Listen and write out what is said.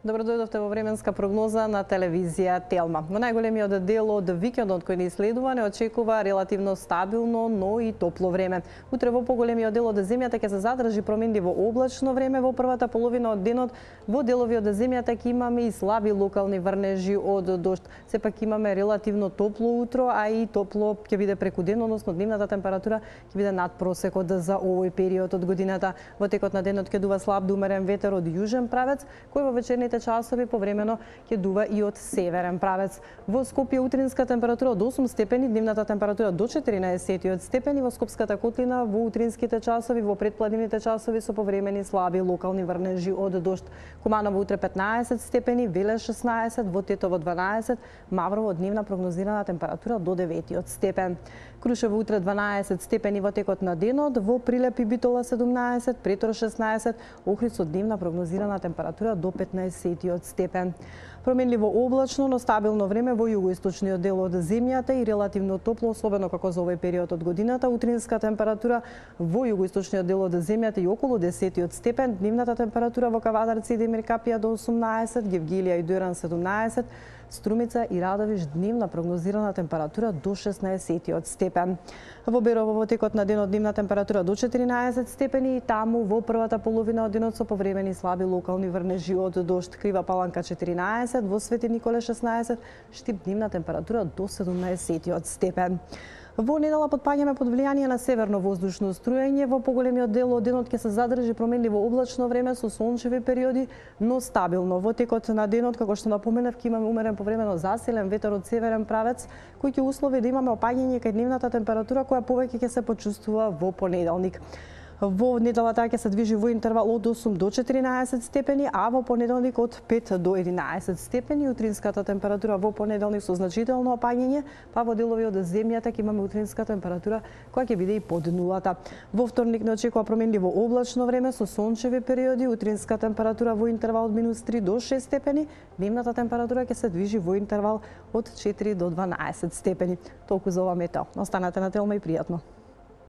Добро дојдовте во временска прогноза на телевизија Телма. Во најголемиот дел од викендот кој ни следува не очекува релативно стабилно, но и топло време. Утре во поголемиот дел од земјата ќе се задржи променливо облачно време, во првата половина од денот во делови од земјата ќе имаме и слаби локални врнежи од дожд. Сепак имаме релативно топло утро, а и топло ќе биде преку ден, односно дневната температура ќе биде над просекот за овој период од годината. Во текот на денот ќе дува слаб до умерен ветер од јужен правец, кој во вечерните часови повремено ќе дува и од северен правец. Во Скопје утринска температура од 8 степени, дневната температура до 14 степени, во Скопската котлина во утринските часови, во предпладневните часови со повремени слаби локални врнежи од дожд. Куманово утре 15 степени, Велес 16, во Тетово 12, Маврово дневна прогнозирана температура до 9 степен. Крушево утре 12 степени во текот на денот, во Прилеп и Битола 17, Претор 16, Охрид со дневна прогнозирана температура до 15 степен. Променливо облачно, но стабилно време во југоисточниот дел од земјата и релативно топло, особено како за овој период од годината. Утринска температура во југоисточниот дел од земјата и околу 10 степен. Дневната температура во Кавадарци и Демир Капија до 18, Гевгелија и Дујран 17, Струмица и Радовиш дневна прогнозирана температура до 16 степен. Во Берово во текот на денот дневна температура до 14 степени и таму во првата половина од денот со повремени слаби локални врнежи од дожд. Крива Паланка 14, во Свети Николе 16, Штип дневна температура до 17 степен. Во недела потпаѓаме под влијание на северно воздушно струење. Во поголемиот дел од денот ќе се задржи променливо облачно време со сончеви периоди, но стабилно. Во текот на денот, како што напоменав, ќе имаме умерен повремено засилен ветер од северен правец, кој ќе услови да имаме опаѓање кај дневната температура, која повеќе ќе се почувствува во понеделник. Во неделата ќе се движи во интервал од 8 до 14 степени, а во понеделник од 5 до 11 степени. Утринската температура во понеделник со значително опаѓање, па во делови од земјата ќе имаме утринска температура која ќе биде и под нулата. Во вторник не очекува променливо облачно време со сончеви периоди, утринска температура во интервал од -3 до 6 степени, дневната температура ќе се движи во интервал од 4 до 12 степени. Толку за ова метео. Останете на Телма и пријатно.